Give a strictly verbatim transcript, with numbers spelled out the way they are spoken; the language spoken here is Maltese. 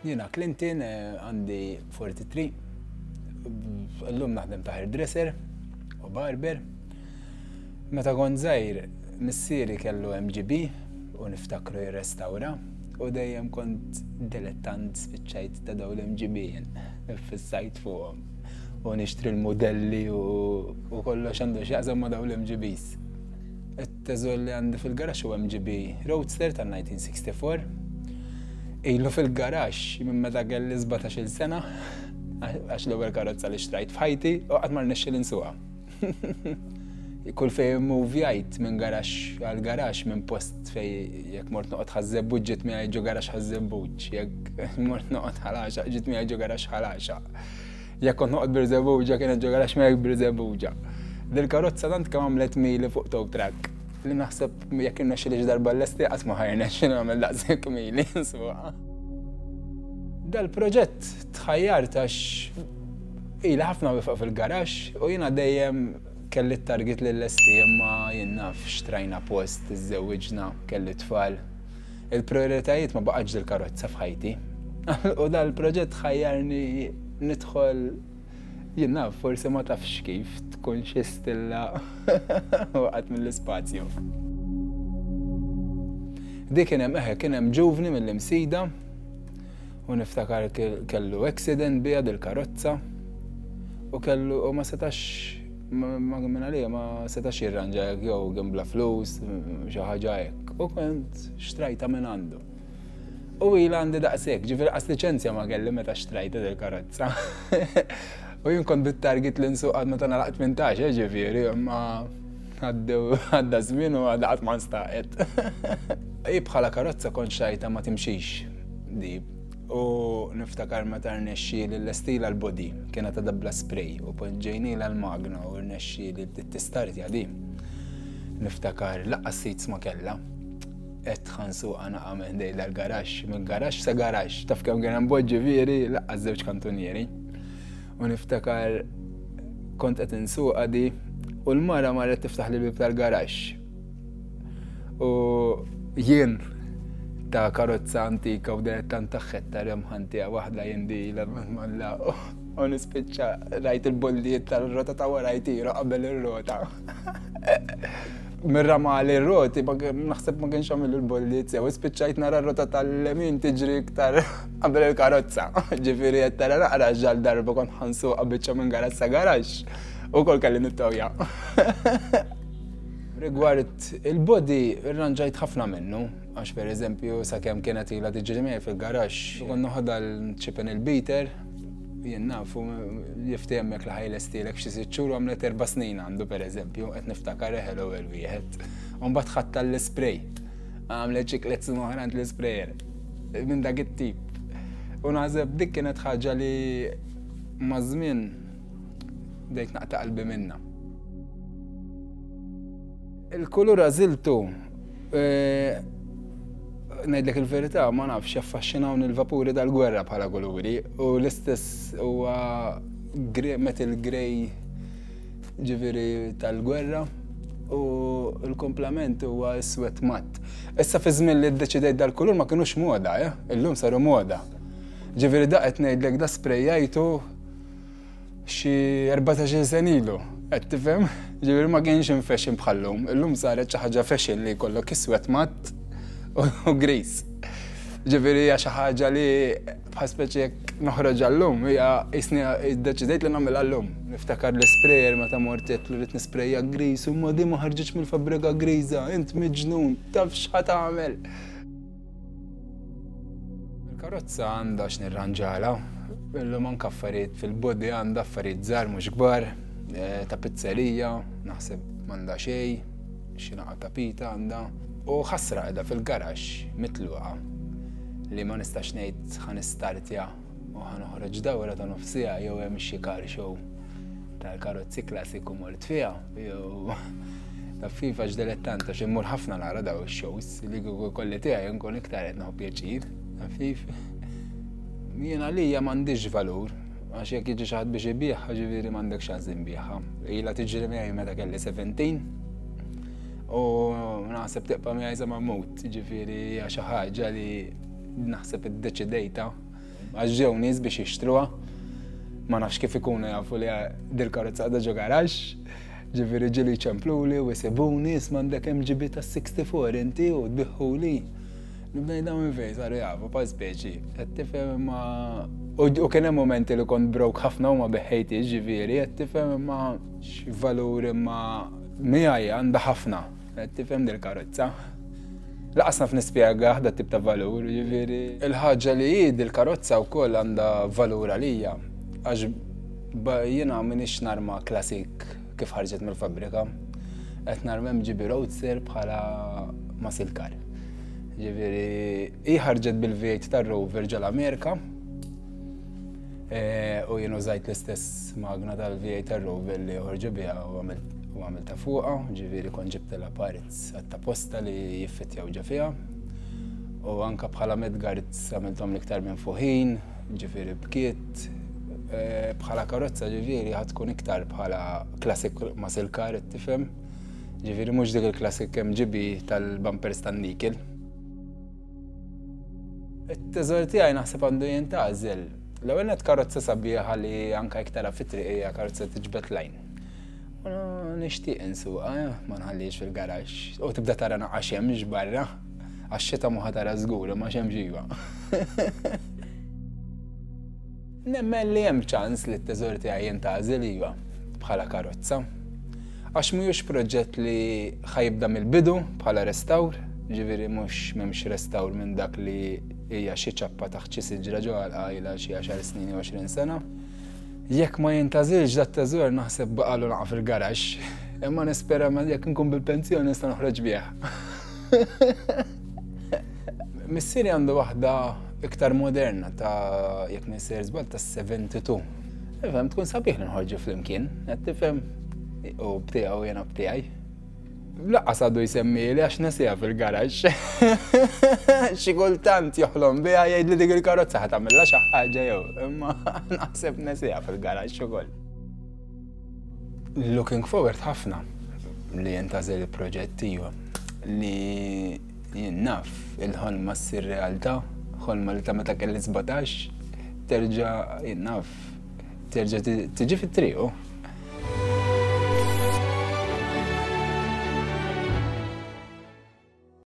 Jiena Clinton, eh, għandi tlieta u erbgħin, illum naħdem ta' hairdresser u barber. Meta kont żgħir, missieri kellu M G B u niftakru jirrestawra u dejjem kont dilettant spiċċajt ta' dawn l-M G B jien, fissajt fuqhom. U nixtri l-modelli u u kollox għandu x'jaqsam ma' dawn l-M G Bs. It-teżor li għandi fil-garaxx hu M G B Roadster tal-elf disa' mija u sitta u disgħin. Ilu fil-garaxx minn meta kelli sbatax-il sena, għax l-ewwel karozza li xtrajt f'ħajti u qatt ma rnexxieli nsuqha. Kull fej movjajt minn garaxx għal garaxx, minn post fej jekk mort noqgħod Ħaż-Żebbuġ, ġiet miegħi ġo garaxx Ħaż-Żebbuġ, jekk mort noqgħod Ħal Għaxaq, ġiet miegħi ġo garaxx Ħal Għaxaq. Jekk kont noqgħod Birżebbuġa, kienet ġo garaxx miegħi Birżebbuġa. Dil-karozza tant kemm għamlet mili fuq tow truck li naħseb jekk irnexxieli darba llesti, qatt ma ħa jirnexxi nagħmel daqshekk mili nsuqha. Dal-proġett tħajjart għax ila ħafna wieqfa fil-garaxx u jiena dejjem kelli t-target li llesti, imma jien naf, xtrajna post, iżżewwiġna, kelli tfal. Il-prioritajiet ma baqgħetx dil-karozza f'ħajti. U dal-proġett ħajjarni nidħol, jien naf, forsi ma tafx kif tkun xi stilla waqgħet mill-ispazju. Dik kien hemm, eħe, kien hemm ġuvni mill-Imsida u niftakar kellu accident biha dil-karozza u kellu u ma setax ma minn għalija ma setax jirranġa jew kien bla flus, xi ħaġa hekk. U kont xtrajta minn għandu. U ila għandi daqshekk, ġifieri qas liċenzja ma kelli meta xtrajta dil-karozza. U jien kont bit-target li nsuq għad meta nagħlaq tmintax, eh, ġifieri, imma għaddew għadda żmien u għadha qatt ma nstaqet. Hi bħala karozza kont xtrajtha ma timxix di. U niftakar meta rnexxieli llestejtilha l-body, kienet għadha bla spray u poġġejnielha l-magna u rnexxieli bdiet tistartja di. Niftakar lanqas seats ma kellha. Et ħa nsuqha naqa minn ħdejn dal-garaxx, minn garaxx sa garaxx, taf kemm kien hemm bogħod, ġifieri, lanqas żewġ kantunieri. U niftakar kont qed insuqha di u l-mara marret tiftaħ li bib tal-garaxx. U jien ta' karozza antika u dilettant taħħetta remħantija waħda jindi la u nispiċċa rajt il-bollijiet tal-rota ta' wara jtiru qabel ir-rota. Mir-ramali r-roti, naħseb ma kienx għamil il-bollijiet sew, spiċċajt nara r-rota tal-lemin tiġri iktar qabel il-karozza. Ġifieri qed tara naqra ġal darba kont ħa nsuqha biċċa minn garaxx sa garaxx u kol kelli nittowja. Rigward il-body, irranġajt ħafna minnu, għax per eżempju, sakemm kienet ilha tiġri miegħi fil-garaxx, kont noħodha l-chip and il-beater, jien nafu jiftehmek li ħa jlestilek f'xi sitt xhur u għamlet erba' snin għandu, per eżempju, qed niftakar eħel ewwel wieħed. U mbagħad ħadt l-spray. Għamlet xi tliet snin oħra l-sprayer. Minn dak it-tip. U naħseb dik kienet ħaġa li maż-żmien bdejt naqta' qalbi minna. Il-kulur għażiltu, eh, ngħidlek il-verità, ma nafx, jaffaxxinawni il-vapuri tal-gwerra bħala kuluri u l-istess huwa metal grey, ġifieri tal-gwerra, u l-komplement huwa iswed matt. Issa fi żmien li ddeċidejt dal-kulur ma kinux moda, eh? Illum saru moda. Ġifieri da qed ngħidlek da sprejjajtu xi erbatax-il sena ilu. Qed tifhem? Ġifieri ma kienx in fashion bħallum. Illum saret xi ħaġa fashion li jkollok iswed matt u gris. Ġifieri hija xi ħaġa li bħal speċi jekk noħroġ għallum, hija jisni iddeċidejt li nagħmel għallum. Niftakar l-sprayer meta mort li rrid nisprejja gris u ma di ma ħarġitx mill-fabbrika griża, int miġnun, taf x'ħa tagħmel. Il-karozza għandha x'nirranġala, illum anke affarijiet fil-body għandha affarijiet żgħar mhux kbar, eh, ta' pizzerija, naħseb m'għandha xejn, xi naqa tapita għandha. U ħasra qiegħda fil-garaxx mitluqa li ma nistax ngħid ħa nistartja u ħa noħroġ dawra ta' nofs siegħa jew hemm xi car show tal-karozzi klassiku mort fiha jew ta' FIFA x'dilettant għax immur ħafna nara daw ix-shows li kieku kolli tiegħi nkun iktar qed nieħu pjaċir. Taf. Jien għalija m'għandix valur, għax jekk jiġi xi ħadd biex ibigħha, ġifieri m'għandek xans inbigħha. Ilha tiġri miegħi meta kelli sbatax u naħseb tibqa' miegħi sa ma mmut, ġifieri hija xi ħaġa li naħseb iddeċidejta. Għax ġew nies biex jixtruha. Ma nafx kif ikunu jafu li dil-karozza għadha ġo garaxx. Ġifieri ġieli ċempluli u jsibuni, "Isma', għandek M G B ta' sittaħax inti u tbigħhuli?" Nibda ngħid, minn fejn saru jafu, pa speċi. Qed tifhem, imma u kien hemm momenti li kont broke ħafna u ma begħtx, ġifieri, qed tifhem, imma x'valur imma miegħi għandha ħafna. Qed tifhem, dil-karozza. Lanqas naf nispjega dat tip ta' valur, ġifieri. Il-ħaġa li hi dil-karozza wkoll għandha valur għalija. Għax jiena m'iniex narma classic kif ħarġet mill-fabrika. Qed narma M G B Roadster bħala muscle car. Ġifieri, hi ħarġet bil-V eight tar-Rover ġol-Amerika. E, u jien użajt l-istess magna tal-V eight tar-Rover li ħorġu biha u għamilt ta' fuqa, ġifieri kont ġibtilha parts apposta li jiffitjaw ġo fiha. U anka bħala mudguards għamilthom l-iktar minn fuħin, ġifieri bkiet. E, bħala karozza, ġifieri, ħa tkun iktar bħala classic muscle car, tifhem? Ġifieri mhux dik il-classic M G B tal-bumpers tan-nikkel. It-teżor tiegħi naħseb għandu jintgħażel. L-ewwel net karozza sabiħa li anka iktar fit-triq hija karozza tiġbed l-għajn. U nixtieq insuqha, eh, ma nħallix fil-garaxx. U tibda tara naqra xemx barra. Għax xita mhu ħa tara żgur, ma xemx iva. Nemmen li hemm ċans li t-teżor tiegħi jintgħażel, iva, bħala karozza. Għax mhux proġett li ħa jibda mill-bidu bħala restawr, ġifieri mhux m'hemmx restawr minn dak li hija xi ċappa taħt xi siġra ġo għal xi għaxar snin jew għoxrin sena. Jekk ma jintgħażilx dat-teżor, naħseb baqalu naqa fil-garaxx, imma nispera ma jekk nkun bil-pensjoni nista' noħroġ bih. Missieri għandu waħda iktar moderna ta', jekk m'iniex sejjer żball, ta' sebgħa u sebgħin. Ifhem, tkun sabiħ li nħorġu flimkien, qed tifhem, u b'tiegħu, jiena b'tiegħi. Lanqas għadu jsemmi li għax nesija fil-garaxx. Xi kultant joħlom biha, jgħid li dik il-karozza ħa tagħmilha xi ħaġa jew, imma naħseb nesija fil-garaxx ukoll. Looking forward ħafna li jintgħażel il-proġett, iva, li jien naf il-ħolma ssir realtà, ħolma li ta' meta kelli sbatax, terġa', jien naf, terġa' tiġi fit-triq.